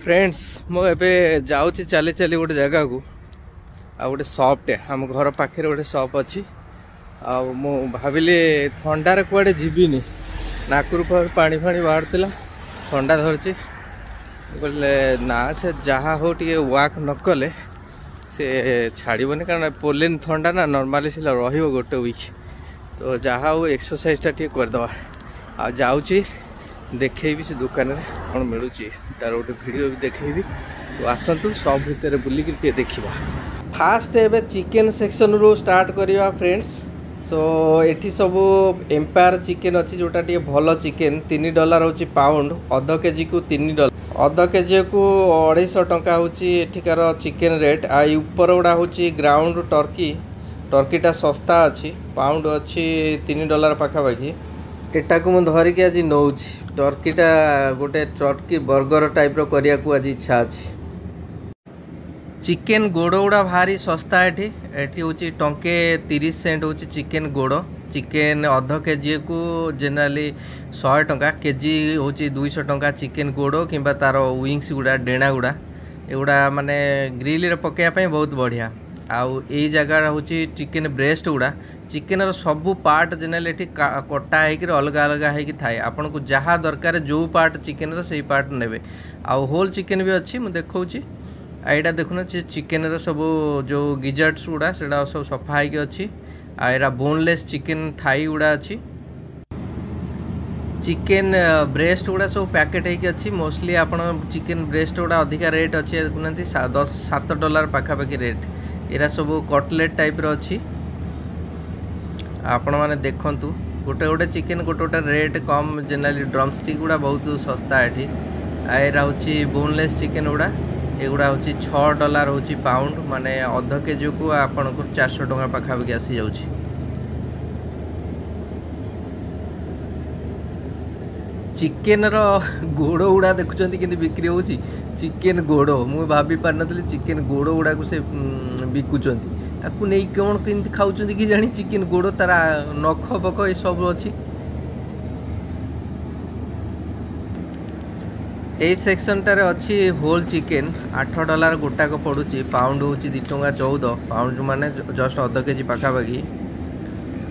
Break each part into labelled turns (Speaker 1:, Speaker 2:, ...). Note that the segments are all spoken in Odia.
Speaker 1: ଫ୍ରେଣ୍ଡସ୍, ମୁଁ ଏବେ ଯାଉଛି ଚାଲି ଚାଲି ଗୋଟେ ଜାଗାକୁ, ଆଉ ଗୋଟେ ସପ୍ଟେ ଆମ ଘର ପାଖରେ ଗୋଟେ ସପ୍ ଅଛି। ଆଉ ମୁଁ ଭାବିଲି ଥଣ୍ଡାରେ କୁଆଡ଼େ ଯିବିନି, ନାକରୁ ପାଣି ଫାଣି ବାହାରୁଥିଲା, ଥଣ୍ଡା ଧରିଛି। କହିଲେ ନା, ସେ ଯାହା ହଉ ଟିକେ ୱାକ୍ ନ କଲେ ସେ ଛାଡ଼ିବନି, କାରଣ ପୋଲେନ୍ ଥଣ୍ଡା ନା, ନର୍ମାଲି ସେ ରହିବ ଗୋଟେ ୱିକ୍। ତ ଯାହା ହଉ ଏକ୍ସରସାଇଜଟା ଟିକେ କରିଦେବା। ଆଉ ଯାଉଛି, ଦେଖେଇବି ସେ ଦୋକାନରେ କ'ଣ ମିଳୁଛି, ତାର ଗୋଟେ ଭିଡ଼ିଓ ବି ଦେଖେଇବି। ତ ଆସନ୍ତୁ, ସପ୍ ଭିତରେ ବୁଲିକି ଟିକେ ଦେଖିବା। ଫାଷ୍ଟ ଏବେ ଚିକେନ୍ ସେକ୍ସନରୁ ଷ୍ଟାର୍ଟ କରିବା ଫ୍ରେଣ୍ଡସ୍। ସୋ ଏଠି ସବୁ ଏମ୍ପାୟାର ଚିକେନ୍ ଅଛି, ଯେଉଁଟା ଟିକେ ଭଲ ଚିକେନ୍। $3 ହେଉଛି ପାଉଣ୍ଡ, ଅଧ କେଜିକୁ $3, ଅଧ କେଜିକୁ 250 ଟଙ୍କା ହେଉଛି ଏଠିକାର ଚିକେନ୍ ରେଟ୍। ଆଉ ଏଇ ଉପର ଗୁଡ଼ା ହେଉଛି ଗ୍ରାଉଣ୍ଡ ଟର୍କି। ଟର୍କିଟା ଶସ୍ତା ଅଛି, ପାଉଣ୍ଡ ଅଛି $3 ପାଖାପାଖି। ଏଟାକୁ ମୁଁ ଧରିକି ଆଜି ନେଉଛି। ଟର୍କିଟା ଗୋଟେ ଟର୍କି ବର୍ଗର ଟାଇପ୍ର କରିବାକୁ ଆଜି ଇଚ୍ଛା ଅଛି। ଚିକେନ୍ ଗୋଡ଼ ଗୁଡ଼ା ଭାରି ଶସ୍ତା ଏଠି। ଏଠି ହେଉଛି ଟଙ୍କେ 30 ସେଣ୍ଟ ହେଉଛି ଚିକେନ୍ ଗୋଡ଼। ଚିକେନ୍ ଅଧ କେଜିକୁ ଜେନେରାଲି 100 ଟଙ୍କା, କେଜି ହେଉଛି 200 ଟଙ୍କା। ଚିକେନ୍ ଗୋଡ଼ କିମ୍ବା ତାର ୱିଙ୍ଗସ୍ ଗୁଡ଼ା, ଡେଣା ଗୁଡ଼ା, ଏଗୁଡ଼ା ମାନେ ଗ୍ରିଲରେ ପକାଇବା ପାଇଁ ବହୁତ ବଢ଼ିଆ। ଆଉ ଏଇ ଜାଗା ହେଉଛି ଚିକେନ୍ ବ୍ରେଷ୍ଟ ଗୁଡ଼ା। ଚିକେନର ସବୁ ପାର୍ଟ ଜେନେରାଲି ଏଠି କଟା ହେଇକିରି ଅଲଗା ଅଲଗା ହେଇକି ଥାଏ। ଆପଣଙ୍କୁ ଯାହା ଦରକାର, ଯେଉଁ ପାର୍ଟ ଚିକେନର, ସେଇ ପାର୍ଟ ନେବେ। ଆଉ ହୋଲ୍ ଚିକେନ୍ ବି ଅଛି, ମୁଁ ଦେଖାଉଛି। ଆଉ ଏଇଟା ଦେଖୁନ, ସେ ଚିକେନର ସବୁ ଯେଉଁ ଗିଜର୍ଟସ୍ ଗୁଡ଼ା, ସେଇଟା ସବୁ ସଫା ହେଇକି ଅଛି। ଆଉ ଏଇଟା ବୋନଲେସ୍ ଚିକେନ୍ ଥାଇ ଗୁଡ଼ା ଅଛି। ଚିକେନ୍ ବ୍ରେଷ୍ଟ ଗୁଡ଼ା ସବୁ ପ୍ୟାକେଟ୍ ହେଇକି ଅଛି। ମୋଷ୍ଟଲି ଆପଣ ଚିକେନ୍ ବ୍ରେଷ୍ଟ ଗୁଡ଼ା ଅଧିକା ରେଟ୍ ଅଛି, ଦେଖୁନାହାନ୍ତି, 10 7 ଡଲାର ପାଖାପାଖି ରେଟ୍। ଏଇଟା ସବୁ କଟଲେଟ୍ ଟାଇପ୍ର ଅଛି। ଆପଣମାନେ ଦେଖନ୍ତୁ, ଗୋଟେ ଗୋଟେ ଚିକେନ୍ ଗୋଟେ ଗୋଟେ ରେଟ୍ କମ୍। ଜେନେରାଲି ଡ୍ରମ୍ ଷ୍ଟିକ୍ ଗୁଡ଼ା ବହୁତ ଶସ୍ତା ଏଠି। ଆଉ ଏଇଟା ହେଉଛି ବୋନଲେସ୍ ଚିକେନ୍ ଗୁଡ଼ା। ଏଗୁଡ଼ା ହେଉଛି $6 ହେଉଛି ପାଉଣ୍ଡ, ମାନେ ଅଧ କେଜିକୁ ଆପଣଙ୍କୁ 400 ଟଙ୍କା ପାଖାପାଖି ଆସିଯାଉଛି। ଚିକେନର ଗୋଡ଼ ଗୁଡ଼ା ଦେଖୁଛନ୍ତି କେମିତି ବିକ୍ରି ହେଉଛି? ଚିକେନ ଗୋଡ଼, ମୁଁ ଭାବି ପାରିନଥିଲି ଚିକେନ ଗୋଡ଼ ଗୁଡ଼ାକୁ ସେ ବିକୁଛନ୍ତି। ଆକୁ ନେଇ କ'ଣ କେମିତି ଖାଉଛନ୍ତି କି ଜାଣି। ଚିକେନ ଗୋଡ଼, ତାର ନଖ ଫଖ ଏସବୁ ଅଛି। ଏଇ ସେକ୍ସନଟାରେ ଅଛି ହୋଲ୍ ଚିକେନ୍। $8 ଗୋଟାକ ପଡ଼ୁଛି, ପାଉଣ୍ଡ ହେଉଛି 2 ଟଙ୍କା 14। ପାଉଣ୍ଡ ମାନେ ଜଷ୍ଟ ଅଧ କେଜି ପାଖାପାଖି।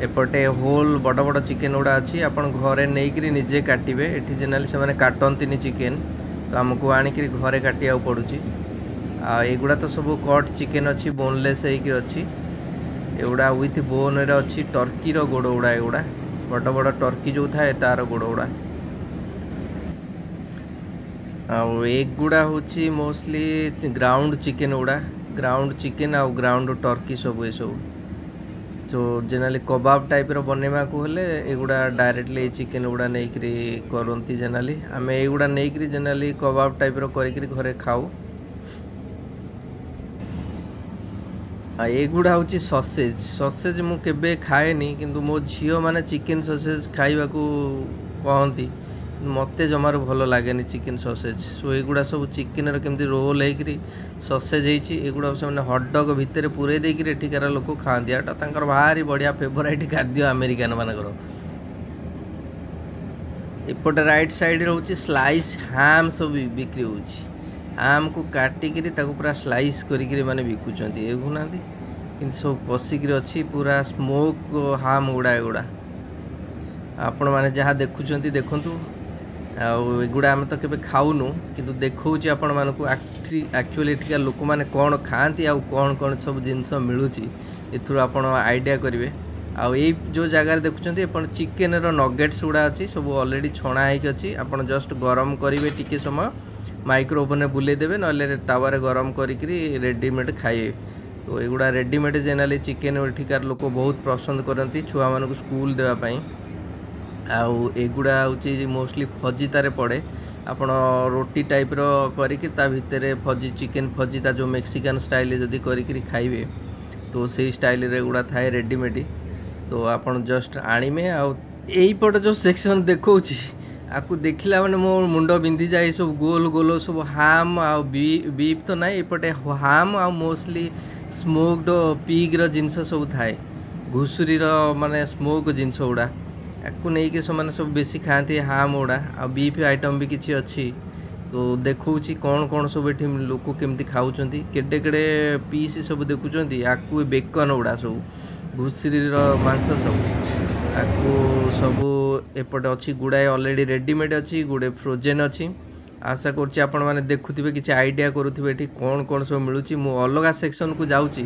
Speaker 1: ଏପଟେ ହୋଲ୍ ବଡ଼ ବଡ଼ ଚିକେନ୍ ଗୁଡ଼ା ଅଛି। ଆପଣ ଘରେ ନେଇକରି ନିଜେ କାଟିବେ। ଏଠି ଜେନେରାଲି ସେମାନେ କାଟନ୍ତିନି ଚିକେନ୍, ତ ଆମକୁ ଆଣିକିରି ଘରେ କାଟିବାକୁ ପଡ଼ୁଛି। ଆଉ ଏଗୁଡ଼ା ତ ସବୁ କଟ୍ ଚିକେନ୍ ଅଛି, ବୋନଲେସ୍ ହେଇକି ଅଛି। ଏଗୁଡ଼ା ୱିଥ୍ ବୋନ୍ରେ ଅଛି। ଟର୍କିର ଗୋଡ଼ ଗୁଡ଼ା ଏଗୁଡ଼ା, ବଡ଼ ବଡ଼ ଟର୍କି ଯେଉଁ ଥାଏ ତାର ଗୋଡ଼ ଗୁଡ଼ା। ଆଉ ଏଗୁଡ଼ା ହେଉଛି ମୋଷ୍ଟଲି ଗ୍ରାଉଣ୍ଡ ଚିକେନ୍ ଗୁଡ଼ା, ଗ୍ରାଉଣ୍ଡ ଚିକେନ୍ ଆଉ ଗ୍ରାଉଣ୍ଡ ଟର୍କି ସବୁ ଏସବୁ। ତ ଜେନେରାଲି କବାବ ଟାଇପ୍ର ବନେଇବାକୁ ହେଲେ ଏଗୁଡ଼ା ଡାଇରେକ୍ଟଲି ଚିକେନ୍ ଗୁଡ଼ା ନେଇକରି କରନ୍ତି। ଜେନେରାଲି ଆମେ ଏଇଗୁଡ଼ା ନେଇକରି ଜେନେରାଲି କବାବ ଟାଇପ୍ର କରିକିରି ଘରେ ଖାଉ। ଆଉ ଏଗୁଡ଼ା ହେଉଛି ସସେଜ୍। ସସେଜ୍ ମୁଁ କେବେ ଖାଏନି, କିନ୍ତୁ ମୋ ଝିଅମାନେ ଚିକେନ୍ ସସେଜ୍ ଖାଇବାକୁ କହନ୍ତି। ମୋତେ ଜମାରୁ ଭଲ ଲାଗେନି ଚିକେନ୍ ସସେଜ୍। ସୋ ଏଗୁଡ଼ା ସବୁ ଚିକେନ୍ର କେମିତି ରୋଲ୍ ହେଇକିରି ସସେଜ୍ ହେଇଛି। ଏଗୁଡ଼ା ସେମାନେ ହଟଡଗ୍ ଭିତରେ ପୂରେଇ ଦେଇକିରି ଏଠିକାର ଲୋକ ଖାଆନ୍ତି। ଏଇଟା ତାଙ୍କର ଭାରି ବଢ଼ିଆ ଫେଭରାଇଟ୍ ଖାଦ୍ୟ ଆମେରିକାନ ମାନଙ୍କର। ଏପଟେ ରାଇଟ୍ ସାଇଡ଼୍ ରହୁଛି ସ୍ଲାଇସ୍ ହାମ୍ ସବୁ ବିକ୍ରି ହେଉଛି। ହାମ୍କୁ କାଟିକିରି ତାକୁ ପୁରା ସ୍ଲାଇସ୍ କରିକିରି ମାନେ ବିକୁଛନ୍ତି। ଦେଖୁନାହାନ୍ତି କିନ୍ତୁ ସବୁ ପଶିକିରି ଅଛି, ପୁରା ସ୍ମୋକ୍ ହାମ୍ ଗୁଡ଼ା ଏଗୁଡ଼ା। ଆପଣମାନେ ଯାହା ଦେଖୁଛନ୍ତି ଦେଖନ୍ତୁ। ଆଉ ଏଗୁଡ଼ା ଆମେ ତ କେବେ ଖାଉନୁ, କିନ୍ତୁ ଦେଖାଉଛି ଆପଣମାନଙ୍କୁ ଆକ୍ଚୁଆଲି ଏଠିକା ଲୋକମାନେ କ'ଣ ଖାଆନ୍ତି ଆଉ କ'ଣ କ'ଣ ସବୁ ଜିନିଷ ମିଳୁଛି, ଏଥିରୁ ଆପଣ ଆଇଡ଼ିଆ କରିବେ। ଆଉ ଏଇ ଯେଉଁ ଜାଗାରେ ଦେଖୁଛନ୍ତି ଆପଣ, ଚିକେନର ନଗେଟ୍ସ ଗୁଡ଼ା ଅଛି। ସବୁ ଅଲରେଡ଼ି ଛଣା ହେଇକି ଅଛି। ଆପଣ ଜଷ୍ଟ ଗରମ କରିବେ, ଟିକେ ସମୟ ମାଇକ୍ରୋ ଓଭେନରେ ବୁଲେଇ ଦେବେ, ନହେଲେ ତାୱାରେ ଗରମ କରିକିରି ରେଡ଼ିମେଡ଼୍ ଖାଇବେ। ତ ଏଗୁଡ଼ା ରେଡ଼ିମେଡ଼୍ ଜେନେରାଲି ଚିକେନ୍ ଏଠିକାର ଲୋକ ବହୁତ ପସନ୍ଦ କରନ୍ତି ଛୁଆମାନଙ୍କୁ ସ୍କୁଲ ଦେବା ପାଇଁ। ଆଉ ଏଗୁଡ଼ା ହେଉଛି ମୋଷ୍ଟଲି ଫଜିତାରେ ପଡ଼େ। ଆପଣ ରୋଟି ଟାଇପ୍ର କରିକି ତା ଭିତରେ ଫଜି ଚିକେନ୍ ଫଜିତା ଯେଉଁ ମେକ୍ସିକାନ୍ ଷ୍ଟାଇଲ୍ରେ ଯଦି କରିକିରି ଖାଇବେ, ତ ସେଇ ଷ୍ଟାଇଲ୍ରେ ଏଗୁଡ଼ା ଥାଏ ରେଡ଼ିମେଡ଼୍। ତ ଆପଣ ଜଷ୍ଟ ଆଣିବେ। ଆଉ ଏଇପଟେ ଯେଉଁ ସେକ୍ସନ୍ ଦେଖାଉଛି, ଆକୁ ଦେଖିଲା ମାନେ ମୋ ମୁଣ୍ଡ ବିନ୍ଧିଯାଏ। ସବୁ ଗୋଲ ଗୋଲ ସବୁ ହାମ୍ ଆଉ ବିଫ୍ ତ ନାହିଁ, ଏପଟେ ହାମ୍ ଆଉ ମୋଷ୍ଟଲି ସ୍ମୋକ୍ଡ ପିଗ୍ର ଜିନିଷ ସବୁ ଥାଏ, ଘୁଷୁରୀର ମାନେ ସ୍ମୋକ୍ ଜିନିଷ ଗୁଡ଼ା। ଆକୁ ନେଇକି ସେମାନେ ସବୁ ବେଶୀ ଖାଆନ୍ତି ହାମ୍ ଗୁଡ଼ା। ଆଉ ବିଫ୍ ଆଇଟମ୍ ବି କିଛି ଅଛି। ତ ଦେଖାଉଛି କ'ଣ କ'ଣ ସବୁ ଏଠି ଲୋକ କେମିତି ଖାଉଛନ୍ତି, କେଡ଼େ କେଡ଼େ ପିସ୍ ସବୁ ଦେଖୁଛନ୍ତି। ଆକୁ ବେକନ ଗୁଡ଼ା ସବୁ, ଘୁଷୁରୀର ମାଂସ ସବୁ, ଆକୁ ସବୁ ଏପଟେ ଅଛି। ଗୁଡ଼ାଏ ଅଲରେଡ଼ି ରେଡ଼ିମେଡ଼୍ ଅଛି, ଗୁଡ଼େ ଫ୍ରୋଜେନ୍ ଅଛି। ଆଶା କରୁଛି ଆପଣମାନେ ଦେଖୁଥିବେ, କିଛି ଆଇଡ଼ିଆ କରୁଥିବେ ଏଠି କ'ଣ କ'ଣ ସବୁ ମିଳୁଛି। ମୁଁ ଅଲଗା ସେକ୍ସନକୁ ଯାଉଛି।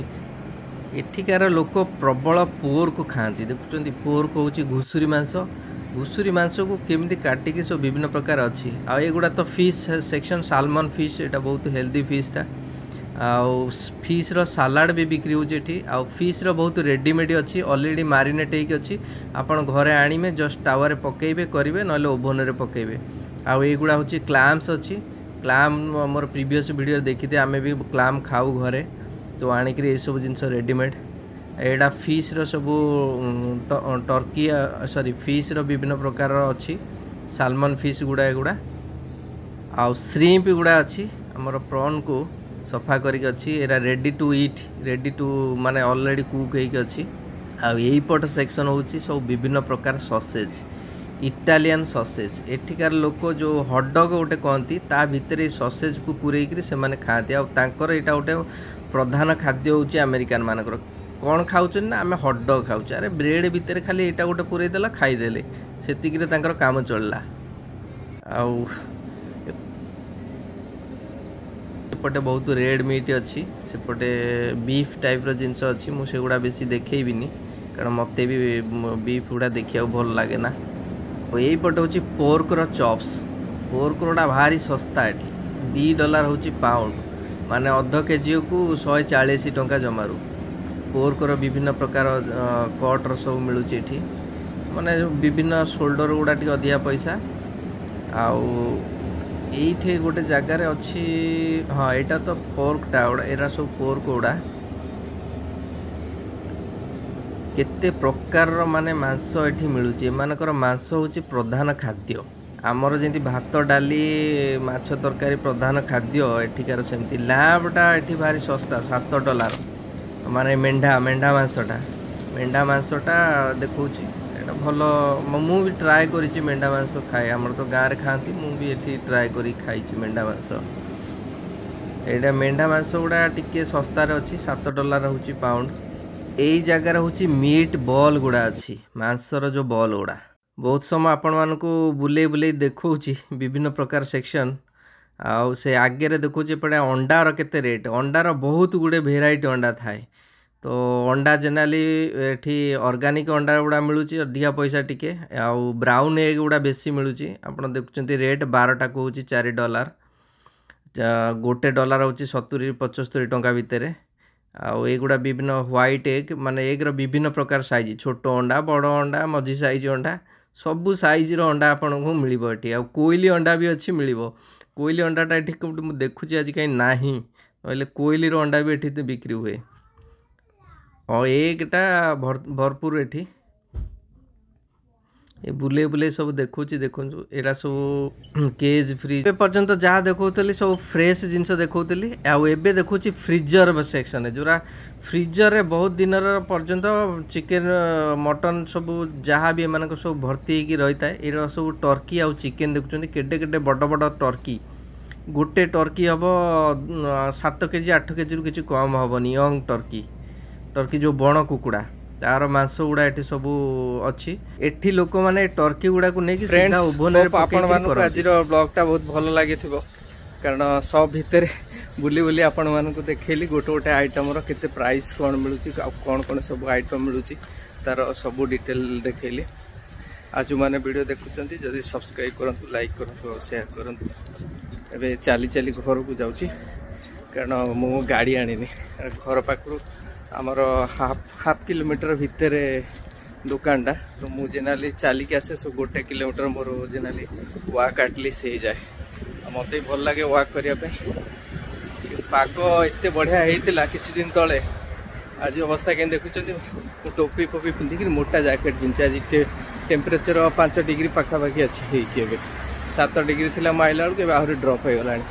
Speaker 1: ଏଠିକାର ଲୋକ ପ୍ରବଳ ପୋର୍କ ଖାଆନ୍ତି। ଦେଖୁଛନ୍ତି, ପୋର୍କ ହେଉଛି ଘୁଷୁରୀ ମାଂସ। ଘୁଷୁରୀ ମାଂସକୁ କେମିତି କାଟିକି ସବୁ ବିଭିନ୍ନ ପ୍ରକାର ଅଛି। ଆଉ ଏଗୁଡ଼ା ତ ଫିସ୍ ସେକ୍ସନ୍, ସାଲମନ୍ ଫିସ୍, ଏଇଟା ବହୁତ ହେଲ୍ଦି ଫିସ୍ଟା। ଆଉ ଫିସ୍ର ସାଲାଡ଼ ବି ବିକ୍ରି ହେଉଛି ଏଠି। ଆଉ ଫିସ୍ର ବହୁତ ରେଡ଼ିମେଡ଼୍ ଅଛି, ଅଲରେଡ଼ି ମାରିନେଟ୍ ହେଇକି ଅଛି। ଆପଣ ଘରେ ଆଣିବେ, ଜଷ୍ଟ ତାୱାରେ ପକାଇବେ କରିବେ, ନହେଲେ ଓଭନରେ ପକାଇବେ। ଆଉ ଏଇଗୁଡ଼ା ହେଉଛି କ୍ଲାମ୍ସ ଅଛି। କ୍ଲାମ୍ ଆମର ପ୍ରିଭିୟସ୍ ଭିଡ଼ିଓରେ ଦେଖିଥିବେ, ଆମେ ବି କ୍ଲାମ୍ ଖାଉ ଘରେ, ତ ଆଣିକିରି ଏସବୁ ଜିନିଷ ରେଡ଼ିମେଡ଼୍। ଏଇଟା ଫିସ୍ର ସବୁ ଟର୍କି, ସରି, ଫିସ୍ର ବିଭିନ୍ନ ପ୍ରକାରର ଅଛି, ସାଲମନ୍ ଫିସ୍ ଗୁଡ଼ା ଏଗୁଡ଼ା। ଆଉ ଶ୍ରିମ୍ପ ଗୁଡ଼ା ଅଛି, ଆମର ପ୍ରନ୍କୁ ସଫା କରିକି ଅଛି। ଏଇଟା ready to eat, ready to ମାନେ ଅଲରେଡ଼ି କୁକ୍ ହେଇକି ଅଛି। ଆଉ ଏଇପଟ ସେକ୍ସନ୍ ହେଉଛି ସବୁ ବିଭିନ୍ନ ପ୍ରକାର ସସେଜ୍, ଇଟାଲିଆନ୍ ସସେଜ୍। ଏଠିକାର ଲୋକ ଯେଉଁ ହଟଡଗ୍ ଗୋଟେ କହନ୍ତି, ତା ଭିତରେ ଏଇ ସସେଜ୍କୁ ପୂରେଇକିରି ସେମାନେ ଖାଆନ୍ତି। ଆଉ ତାଙ୍କର ଏଇଟା ଗୋଟେ ପ୍ରଧାନ ଖାଦ୍ୟ ହେଉଛି। ଆମେରିକାନ ମାନଙ୍କର କ'ଣ ଖାଉଛନ୍ତି ନା, ଆମେ ହଟଡଗ୍ ଖାଉଛୁ। ଆରେ, ବ୍ରେଡ଼୍ ଭିତରେ ଖାଲି ଏଇଟା ଗୋଟେ ପୂରେଇ ଦେଲା, ଖାଇଦେଲେ, ସେତିକିରେ ତାଙ୍କର କାମ ଚଳିଲା। ଆଉ ଏପଟେ ବହୁତ ରେଡ଼୍ ମିଟ୍ ଅଛି, ସେପଟେ ବିଫ୍ ଟାଇପ୍ର ଜିନିଷ ଅଛି। ମୁଁ ସେଗୁଡ଼ା ବେଶୀ ଦେଖେଇବିନି, କାରଣ ମୋତେ ବି ବିଫ୍ ଗୁଡ଼ା ଦେଖିବାକୁ ଭଲ ଲାଗେ ନା। ଆଉ ଏଇପଟେ ହେଉଛି ପୋର୍କର ଚପ୍ସ। ପୋର୍କରଟା ଭାରି ଶସ୍ତା ଏଠି, $2 ହେଉଛି ପାଉଣ୍ଡ, ମାନେ ଅଧ କେଜିକୁ 140 ଟଙ୍କା ଜମାରୁ। ପୋର୍କର ବିଭିନ୍ନ ପ୍ରକାର କଟ୍ର ସବୁ ମିଳୁଛି ଏଠି, ମାନେ ବିଭିନ୍ନ ସୋଲ୍ଡର ଗୁଡ଼ା ଟିକେ ଅଧିକା ପଇସା। ଆଉ ଏଇଠି ଗୋଟେ ଜାଗାରେ ଅଛି, ହଁ, ଏଇଟା ତ ପୋର୍କଟା ଗୁଡ଼ା, ଏଇଟା ସବୁ ପୋର୍କ ଗୁଡ଼ା। କେତେ ପ୍ରକାରର ମାନେ ମାଂସ ଏଠି ମିଳୁଛି। ଏମାନଙ୍କର ମାଂସ ହେଉଛି ପ୍ରଧାନ ଖାଦ୍ୟ। ଆମର ଯେମିତି ଭାତ, ଡାଲି, ମାଛ ତରକାରୀ ପ୍ରଧାନ ଖାଦ୍ୟ, ଏଠିକାର ସେମିତି। ଲ୍ୟାମ୍ବଟା ଏଠି ଭାରି ଶସ୍ତା, $7, ମାନେ ମେଣ୍ଢା ମାଂସଟା ଦେଖାଉଛି। ଏଇଟା ଭଲ, ମୁଁ ବି ଟ୍ରାଏ କରିଛି, ମେଣ୍ଢା ମାଂସ ଖାଏ। ଆମର ତ ଗାଁରେ ଖାଆନ୍ତି, ମୁଁ ବି ଏଠି ଟ୍ରାଏ କରି ଖାଇଛି ମେଣ୍ଢା ମାଂସ। ଏଇଟା ମେଣ୍ଢା ମାଂସ ଗୁଡ଼ା ଟିକେ ଶସ୍ତାରେ ଅଛି, $7 ହେଉଛି ପାଉଣ୍ଡ। ଏଇ ଜାଗାରେ ହେଉଛି ମିଟ୍ ବଲ୍ ଗୁଡ଼ା ଅଛି, ମାଂସର ଯେଉଁ ବଲ୍ ଗୁଡ଼ା। ବହୁତ ସମୟ ଆପଣମାନଙ୍କୁ ବୁଲେଇ ବୁଲେଇ ଦେଖାଉଛି ବିଭିନ୍ନ ପ୍ରକାର ସେକ୍ସନ୍। ଆଉ ସେ ଆଗରେ ଦେଖାଉଛି ଏପଟେ ଅଣ୍ଡାର କେତେ ରେଟ୍। ଅଣ୍ଡାର ବହୁତ ଗୁଡ଼ିଏ ଭେରାଇଟି ଅଣ୍ଡା ଥାଏ। ତ ଅଣ୍ଡା ଜେନେରାଲି ଏଠି ଅର୍ଗାନିକ୍ ଅଣ୍ଡା ଗୁଡ଼ା ମିଳୁଛି, ଅଧିକା ପଇସା ଟିକେ, ଆଉ ବ୍ରାଉନ୍ ଏଗ୍ ଗୁଡ଼ା ବେଶୀ ମିଳୁଛି। ଆପଣ ଦେଖୁଛନ୍ତି ରେଟ୍, 12ଟାକୁ ହେଉଛି $4। $1 ହେଉଛି 70-75 ଟଙ୍କା ଭିତରେ। ଆଉ ଏଗୁଡ଼ା ବିଭିନ୍ନ ହ୍ୱାଇଟ୍ ଏଗ୍, ମାନେ ଏଗ୍ର ବିଭିନ୍ନ ପ୍ରକାର ସାଇଜ୍, ଛୋଟ ଅଣ୍ଡା, ବଡ଼ ଅଣ୍ଡା, ମଝି ସାଇଜ୍ ଅଣ୍ଡା, ସବୁ ସାଇଜ୍ର ଅଣ୍ଡା ଆପଣଙ୍କୁ ମିଳିବ ଏଠି। ଆଉ କୋଇଲି ଅଣ୍ଡା ବି ଅଛି, ମିଳିବ। କୋଇଲି ଅଣ୍ଡାଟା ଏଠି କେଉଁଠି ମୁଁ ଦେଖୁଛି ଆଜି କାହିଁ ନାହିଁ, ନହେଲେ କୋଇଲିର ଅଣ୍ଡା ବି ଏଠି ବିକ୍ରି ହୁଏ। ଆଉ ଏଗ୍ଟା ଭରପୁର ଏଠି। ଏ ବୁଲେଇ ବୁଲେଇ ସବୁ ଦେଖୁଛି, ଦେଖନ୍ତୁ, ଏଇଟା ସବୁ କେଜ୍ ଫ୍ରି। ଏବେ ପର୍ଯ୍ୟନ୍ତ ଯାହା ଦେଖାଉଥିଲି ସବୁ ଫ୍ରେଶ୍ ଜିନିଷ ଦେଖାଉଥିଲି। ଆଉ ଏବେ ଦେଖୁଛି ଫ୍ରିଜର ସେକ୍ସନରେ, ଯେଉଁଟା ଫ୍ରିଜରରେ ବହୁତ ଦିନର ପର୍ଯ୍ୟନ୍ତ ଚିକେନ୍, ମଟନ୍ ସବୁ ଯାହା ବି ଏମାନଙ୍କ ସବୁ ଭର୍ତ୍ତି ହେଇକି ରହିଥାଏ। ଏଇଟା ସବୁ ଟର୍କି ଆଉ ଚିକେନ୍। ଦେଖୁଛନ୍ତି କେଡ଼େ କେଡ଼େ ବଡ଼ ବଡ଼ ଟର୍କି। ଗୋଟେ ଟର୍କି ହେବ 7 କେଜି, 8 କେଜିରୁ କିଛି କମ୍ ହେବନି। ୟଙ୍ଗ ଟର୍କି, ଟର୍କି ଯେଉଁ ବଣ କୁକୁଡ଼ା, ତାର ମାଂସ ଗୁଡ଼ା ଏଠି ସବୁ ଅଛି। ଏଠି ଲୋକମାନେ ଟର୍କି ଗୁଡ଼ାକୁ ନେଇକି ସିଧା ଓଭନରେ।
Speaker 2: ଆପଣମାନଙ୍କୁ ଆଜିର ବ୍ଲଗ୍ଟା ବହୁତ ଭଲ ଲାଗିଥିବ, କାରଣ ସପ୍ ଭିତରେ ବୁଲି ବୁଲି ଆପଣମାନଙ୍କୁ ଦେଖେଇଲି ଗୋଟେ ଗୋଟେ ଆଇଟମର କେତେ ପ୍ରାଇସ୍ କ'ଣ ମିଳୁଛି, ଆଉ କ'ଣ କ'ଣ ସବୁ ଆଇଟମ୍ ମିଳୁଛି, ତାର ସବୁ ଡିଟେଲ୍ ଦେଖେଇଲି। ଆଉ ଯେଉଁମାନେ ଭିଡ଼ିଓ ଦେଖୁଛନ୍ତି, ଯଦି ସବସ୍କ୍ରାଇବ୍ କରନ୍ତୁ, ଲାଇକ୍ କରନ୍ତୁ ଆଉ ସେୟାର କରନ୍ତୁ। ଏବେ ଚାଲି ଚାଲି ଘରକୁ ଯାଉଛି, କାରଣ ମୁଁ ଗାଡ଼ି ଆଣିନି। ଘର ପାଖରୁ ଆମର ହାଫ୍ ହାଫ୍ କିଲୋମିଟର ଭିତରେ ଦୋକାନଟା, ତ ମୁଁ ଜେନେରାଲି ଚାଲିକି ଆସେ। ସବୁ 1 କିଲୋମିଟର ମୋର ଜେନେରାଲି ୱାକ୍ ଆଟଲିଷ୍ଟ ହେଇଯାଏ। ଆଉ ମୋତେ ବି ଭଲ ଲାଗେ ୱାକ୍ କରିବା ପାଇଁ। ପାଗ ଏତେ ବଢ଼ିଆ ହେଇଥିଲା କିଛି ଦିନ ତଳେ, ଆଜି ଅବସ୍ଥା କେମିତି ଦେଖୁଛନ୍ତି। ମୁଁ ଟୋପି ଫୋପି ପିନ୍ଧିକିରି ମୋଟା ଜ୍ୟାକେଟ୍ ପିନ୍ଧିଛି। ଆଜି ଟେମ୍ପରେଚର 5 ଡିଗ୍ରୀ ପାଖାପାଖି ଅଛି ହେଇଛି ଏବେ। 7 ଡିଗ୍ରୀ ଥିଲା ମୁଁ ଆଇଲା ବେଳକୁ, ଏବେ ଆହୁରି ଡ୍ରପ୍ ହେଇଗଲାଣି।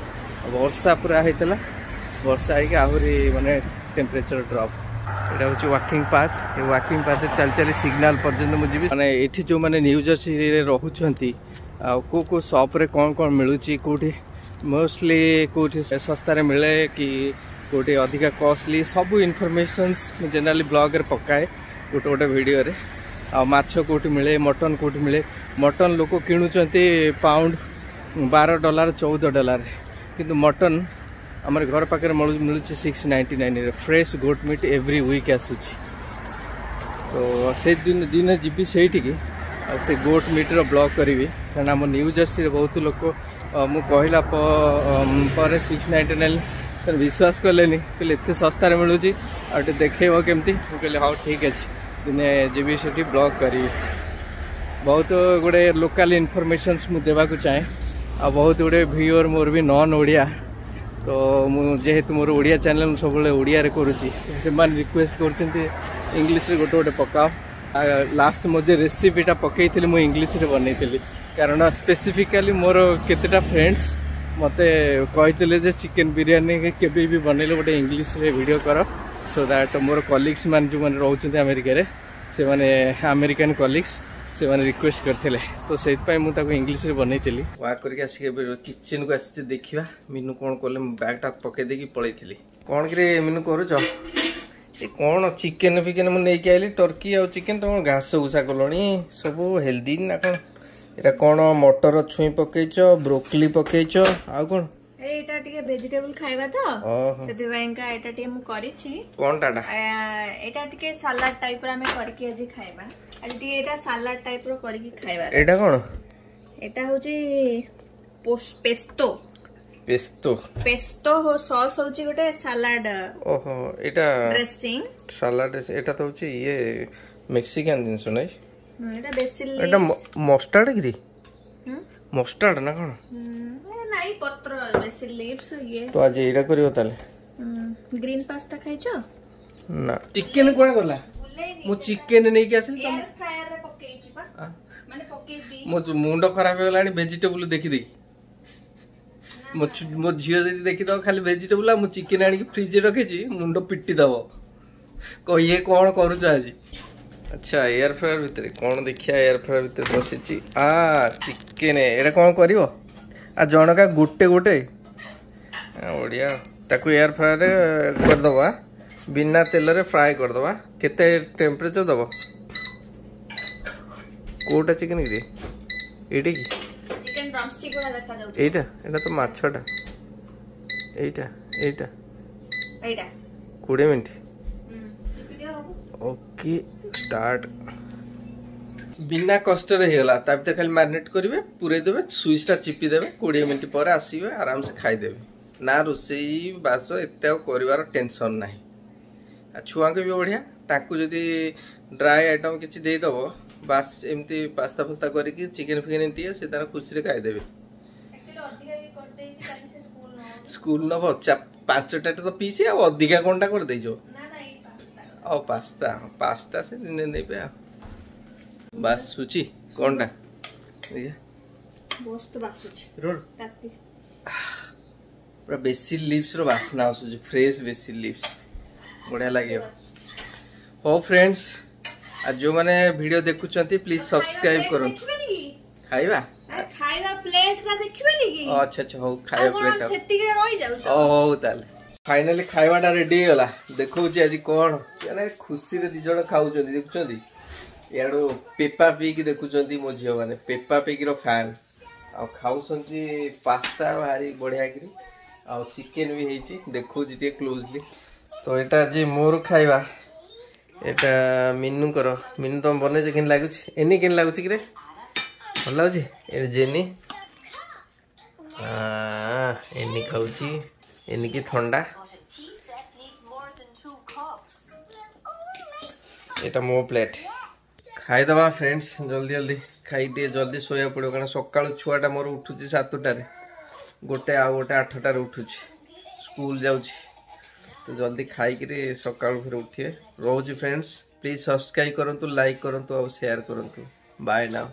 Speaker 2: ବର୍ଷା ପୁରା ହେଇଥିଲା, ବର୍ଷା ହେଇକି ଆହୁରି ମାନେ ଟେମ୍ପରେଚର ଡ୍ରପ୍। ଏଇଟା ହେଉଛି ୱାକିଂ ପାଥ୍। ଏ ୱାକିଂ ପାଥରେ ଚାଲି ଚାଲି ସିଗ୍ନାଲ ପର୍ଯ୍ୟନ୍ତ ମୁଁ ଯିବି। ମାନେ ଏଠି ଯେଉଁମାନେ ନ୍ୟୁ ଜର୍ସିରେ ରହୁଛନ୍ତି, ଆଉ କେଉଁ କେଉଁ ସପ୍ରେ କ'ଣ କ'ଣ ମିଳୁଛି, କେଉଁଠି ମୋଷ୍ଟଲି କେଉଁଠି ଶସ୍ତାରେ ମିଳେ କି କେଉଁଠି ଅଧିକା କଷ୍ଟଲି, ସବୁ ଇନଫର୍ମେସନ୍ସ ମୁଁ ଜେନେରାଲି ବ୍ଲଗ୍ରେ ପକାଏ ଗୋଟେ ଗୋଟେ ଭିଡ଼ିଓରେ। ଆଉ ମାଛ କେଉଁଠି ମିଳେ, ମଟନ୍ କେଉଁଠି ମିଳେ। ମଟନ୍ ଲୋକ କିଣୁଛନ୍ତି ପାଉଣ୍ଡ $12 $14, କିନ୍ତୁ ମଟନ୍ ଆମର ଘର ପାଖରେ ମିଳୁଛି 6.99ରେ। Fresh goat meat every week ଆସୁଛି। ତ ସେ ଦିନ ଯିବି ସେଇଠିକି ଆଉ ସେ ଗୋଟ୍ ମିଟ୍ର ବ୍ଲଗ୍ କରିବି, କାରଣ ଆମ ନ୍ୟୁ ଜର୍ସିରେ ବହୁତ ଲୋକ ମୁଁ କହିଲା ପରେ 6.99 ବିଶ୍ୱାସ କଲେନି, କହିଲେ ଏତେ ଶସ୍ତାରେ ମିଳୁଛି ଆଉ ଟିକେ ଦେଖେଇବ କେମିତି। ମୁଁ କହିଲି ହଉ ଠିକ୍ ଅଛି, ଦିନେ ଯିବି ସେଠି ବ୍ଲଗ୍ କରିବି। ବହୁତ ଗୁଡ଼ିଏ ଲୋକାଲ୍ ଇନଫର୍ମେସନ୍ସ ମୁଁ ଦେବାକୁ ଚାହେଁ। ଆଉ ବହୁତ ଗୁଡ଼ିଏ ଭିୟୁଅର୍ ମୋର ବି ନନ୍ ଓଡ଼ିଆ, ତ ମୁଁ ଯେହେତୁ ମୋର ଓଡ଼ିଆ ଚ୍ୟାନେଲ୍ ମୁଁ ସବୁବେଳେ ଓଡ଼ିଆରେ କରୁଛି, ସେମାନେ ରିକ୍ୱେଷ୍ଟ କରୁଛନ୍ତି ଇଂଲିଶରେ ଗୋଟେ ଗୋଟେ ପକାଅ। ଲାଷ୍ଟ ମୋ ଯେ ରେସିପିଟା ପକେଇଥିଲି ମୁଁ ଇଂଲିଶରେ ବନେଇଥିଲି, କାରଣ ସ୍ପେସିଫିକାଲି ମୋର କେତେଟା ଫ୍ରେଣ୍ଡସ୍ ମୋତେ କହିଥିଲେ ଯେ ଚିକେନ୍ ବିରିୟାନୀ କେବେ ବି ବନେଇଲେ ଗୋଟେ ଇଂଲିଶରେ ଭିଡ଼ିଓ କର, ସୋ that ମୋର କଲିଗ୍ସ ମାନେ ଯେଉଁମାନେ ରହୁଛନ୍ତି ଆମେରିକାରେ, ସେମାନେ ଆମେରିକାନ୍ କଲିଗ୍ସ, ସେମାନେ ରିକ୍ୱେଷ୍ଟ କରିଥିଲେ, ତ ସେଇଥିପାଇଁ ମୁଁ ତାକୁ ଇଂଲିଶରେ ବନେଇଥିଲି। ୱାକ୍ କରିକି ଆସିକି ଏବେ କିଚେନ୍କୁ ଆସିଛି, ଦେଖିବା ମିନୁ କ'ଣ କଲେ। ମୁଁ ବ୍ୟାଗ୍ଟା ପକେଇ ଦେଇକି ପଳେଇଥିଲି। କ'ଣ କିରେ ମିନୁ କରୁଛ? ଏ କ'ଣ ଚିକେନ୍ ଫିକେନ୍ ମୁଁ ନେଇକି ଆଇଲି, ଟର୍କି ଆଉ ଚିକେନ୍, ତମ ଘାସ ଘୁସା କଲଣି ସବୁ ହେଲ୍ଦି ନା କ'ଣ? ଏଇଟା କ'ଣ ମଟର ଛୁଇଁ ପକେଇଛ, ବ୍ରୋକଲି ପକେଇଛ, ଆଉ କ'ଣ?
Speaker 3: ଏଇଟା ଟିକେ ଭେଜିଟେବଲ ଖାଇବା ତ ସେଥିପାଇଁକା ଏଇଟା ଟିକେ ମୁଁ କରିଛି।
Speaker 2: କଣଟା?
Speaker 3: ଏଇଟା ଟିକେ ସାଲାଡ ଟାଇପର ଆମେ କରିକି ଆଜି ଖାଇବା। ଆଜି ଟିକେ ଏଇଟା ସାଲାଡ ଟାଇପର କରିକି ଖାଇବା।
Speaker 2: ଏଇଟା କ'ଣ?
Speaker 3: ଏଇଟା ହଉଛି ପେସ୍ତୋ।
Speaker 2: ପେସ୍ତୋ,
Speaker 3: ପେସ୍ତୋ ସସ୍ ହଉଛି ଗୋଟେ ସାଲାଡ।
Speaker 2: ଓହୋ, ଏଇଟା
Speaker 3: ଡ୍ରେସିଂ
Speaker 2: ସାଲାଡ। ଏଇଟା ତ ହଉଛି ଇଏ ମେକ୍ସିକାନ ଜିନିଷ ନାଇଁ?
Speaker 3: ଏଇଟା ବେସିଲ।
Speaker 2: ଏଇଟା ମଷ୍ଟାର୍ଡ କିରେ? ମଷ୍ଟାର୍ଡ ନା କ'ଣ?
Speaker 3: ନାଇଁ, ପତ୍ର ବେସିଲ ଲିଭ୍ସ ଇଏ।
Speaker 2: ତ ଆଜି ଏଇଟା କରିବ ତାହେଲେ?
Speaker 3: ଗ୍ରୀନ ପାସ୍ତା ଖାଇଛ
Speaker 2: ନା? ଚିକେନ କୁଆଡେ ଗଲା? ମୁଁ ଚିକେନ ନେଇକି ଆସିଲି,
Speaker 3: ଏୟାର ଫ୍ରାୟର ରେ ପକେଇଛି ପା, ମାନେ ପକେଇବି।
Speaker 2: ମୋ ମୁଣ୍ଡ ଖରାପ ହେଇଗଲାଣି ଭେଜିଟେବୁଲ ଦେଖି ଦେଖି। ମୋ ଝିଅ ଯଦି ଦେଖିଦବ ଖାଲି ଭେଜିଟେବୁଲ ଆଉ ମୁଁ ଚିକେନ ଆଣିକି ଫ୍ରିଜରେ ରଖିଛି, ମୁଣ୍ଡ ପିଟି ଦବ, ଇଏ କ'ଣ କରୁଛ ଆଜି। ଆଚ୍ଛା, ଏୟାର ଫ୍ରାୟର ଭିତରେ କ'ଣ ଦେଖିବା? ଏୟାର ଫ୍ରାୟର ଭିତରେ ବସିଛି ଆ ଚିକେନ। ଏଇଟା କ'ଣ କରିବ? ଆ ଜଣକା ଗୋଟେ ଗୋଟେ ଓଡ଼ିଆ। ତାକୁ ଏୟାର ଫ୍ରାୟରରେ କରିଦେବା, ବିନା ତେଲରେ ଫ୍ରାଏ କରିଦେବା। କେତେ ଟେମ୍ପରେଚର ଦେବ? କେଉଁଟା ଚିକେନ କି? ଏଇଟା କି ଏଇଟା? ଏଇଟା ତ ମାଛଟା। ଏଇଟା ଏଇଟା 20 ମିନିଟ୍। Okay, start. ବିନା କଷ୍ଟରେ ହେଇଗଲା। ତା ଭିତରେ ଖାଲି ମ୍ୟାରିନେଟ୍ କରିବେ, ପୁରେଇ ଦେବେ, ସୁଇଚ୍ଟା ଚିପି ଦେବେ, 20 ମିନିଟ୍ ପରେ ଆସିବେ, ଆରାମସେ ଖାଇଦେବେ। ନା ରୋଷେଇ ବାସ ଏତେ ଆଉ କରିବାର ଟେନସନ୍ ନାହିଁ। ଆଉ ଛୁଆଙ୍କୁ ବି ବଢ଼ିଆ, ତାଙ୍କୁ ଯଦି ଡ୍ରାଏ ଆଇଟମ୍ କିଛି ଦେଇଦେବ, ବାସ୍ ଏମିତି ପାସ୍ତା ଫାସ୍ତା କରିକି ଚିକେନ୍ ଫିକେନ୍ ଦିଏ, ସେ ତାର ଖୁସିରେ ଖାଇଦେବେ। ସ୍କୁଲ ନବ 5ଟା ତ ପିସ୍, ଆଉ ଅଧିକା କ'ଣଟା କରିଦେଇଛ? ଆଉ ପାସ୍ତା, ପାସ୍ତା ସେ ଦିନେ ନେବେ। ଆଉ ବାସୁଛି କ'ଣଟା? ପୁରା ବେସିଲ ଲିଭ୍ସର ବାସ୍ନା ଆସୁଛି, ଫ୍ରେଶ ବେସିଲ ଲିଭ୍ସ, ବଢ଼ିଆ ଲାଗିବ। ହଉ ଫ୍ରେଣ୍ଡସ୍, ଆଉ ଯେଉଁମାନେ ଭିଡ଼ିଓ ଦେଖୁଛନ୍ତି ପ୍ଲିଜ୍ ସବସ୍କ୍ରାଇବ କରନ୍ତୁ। ଖାଇବା ଆଚ୍ଛା ଆଚ୍ଛା, ହଉ ଖାଇବା ପ୍ଲେଟ୍। ହଉ ତାହେଲେ ଫାଇନାଲି ଖାଇବାଟା ରେଡି ହେଇଗଲା। ଦେଖଉଛି ଆଜି କ'ଣ, ମାନେ ଖୁସିରେ ଦି ଜଣ ଖାଉଛନ୍ତି। ଦେଖୁଛନ୍ତି ଇଆଡ଼ୁ ପେପା ପିଇକି ଦେଖୁଛନ୍ତି ମୋ ଝିଅମାନେ, ପେପା ପିଇକିର ଫ୍ୟାନ୍। ଆଉ ଖାଉଛନ୍ତି ପାସ୍ତା ଭାରି ବଢ଼ିଆ କିରି, ଆଉ ଚିକେନ ବି ହେଇଛି, ଦେଖଉଛି ଟିକେ କ୍ଲୋଜଲି। ତ ଏଇଟା ଆଜି ମୋର ଖାଇବା, ଏଇଟା ମିନୁଙ୍କର। ମିନୁ ତମେ ବନେଇଛ, କେମିତି ଲାଗୁଛି? ଏନି କେମିତି ଲାଗୁଛି କିରେ? ଭଲ ଲାଗୁଛି? ଏ ଜେନି ଏନି ଖାଉଛି, ଏନିକି ଥଣ୍ଡା। ଏଇଟା ମୋ ପ୍ଲେଟ୍। ଖାଇଦେବା ଫ୍ରେଣ୍ଡସ୍, ଜଲ୍ଦି ଜଲ୍ଦି ଖାଇ ଟିକେ ଜଲ୍ଦି ଶୋଇବାକୁ ପଡ଼ିବ, କାରଣ ସକାଳୁ ଛୁଆଟା ମୋର ଉଠୁଛି 7ଟାରେ, ଗୋଟେ ଆଉ ଗୋଟେ 8ଟାରେ ଉଠୁଛି, ସ୍କୁଲ ଯାଉଛି। ତ ଜଲ୍ଦି ଖାଇକିରି ସକାଳୁ ଫେର ଉଠିବେ। ରହୁଛି ଫ୍ରେଣ୍ଡସ୍, ପ୍ଲିଜ୍ ସବସ୍କ୍ରାଇବ୍ କରନ୍ତୁ, ଲାଇକ୍ କରନ୍ତୁ ଆଉ ସେୟାର କରନ୍ତୁ। Bye now.